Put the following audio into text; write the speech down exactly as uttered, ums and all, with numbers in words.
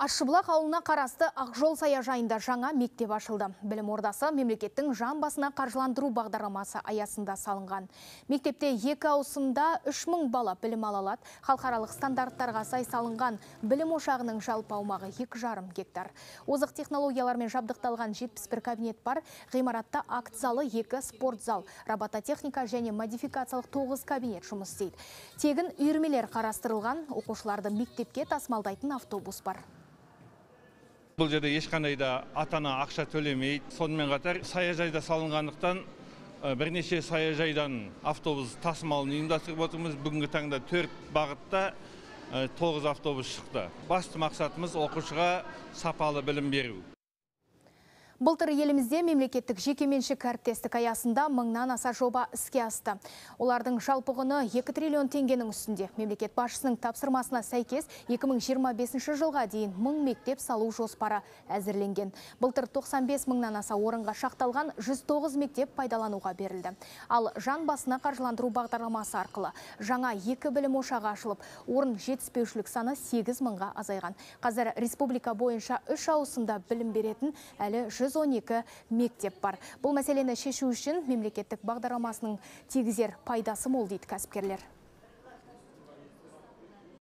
Ащыбұлақ ауылына қарасты Ақжол саяжайында жаңа мектеп ашылды. Білім ордасы мемлекеттің жан басына қаржыландыру бағдарламасы аясында салынған. Мектепте екі ауысымда үш мың бала білім ала алады. Халықаралық стандарттарға сай салынған білім ошағының жалпы аумағы екі жарым гектар. Озық технологиялармен жабдықталған жетпіс бір кабинет бар. Ғимаратта акт залы, екі спорт зал, робототехника және модификациялық тоғыз кабинет жұмыс істейді. Тегін үйірмелер қарастырылған, оқушыларды мектепке тасымалдайтын автобус бар. Бұл жерде ешқандай да ата-ана ақша төлемейді. Сонымен қатар саяжайда салынғандықтан бірнеше саяжайдан автобус тасымалын ұйымдастырып отырмыз. Бүгінгі таңда төрт бағытта тоғыз автобус шықты. Басты мақсатымыз оқушыға сапалы білім беру. Былтыр елімізде мемлекеттік жекеменшік әріптестік аясында мыңнан аса жоба іске асты. Олардың жалпы құны екі триллион теңгенің үстінде. Мемлекет басшысының тапсырмасына сәйкес екі мың жиырма бесінші жылға дейін мың мектеп салу жоспары әзірленген. Былтыр тоқсан бес мыңнан аса орынға шақталған жүз тоғыз мектеп пайдалануға берілді. Ал жан басына қаржыландыру бағдарламасы арқылы жаңа екі білім ошағы ашылып, орын жетіспеушілік саны сегіз мыңға азайған. Қазір республика бойынша үш ауысымда білім беретін әлі жүз он екі мектеп бар. Бұл мәселені шешу үшін мемлекеттік бағдарламасының тигізер пайдасы мол дейді кәсіпкерлер.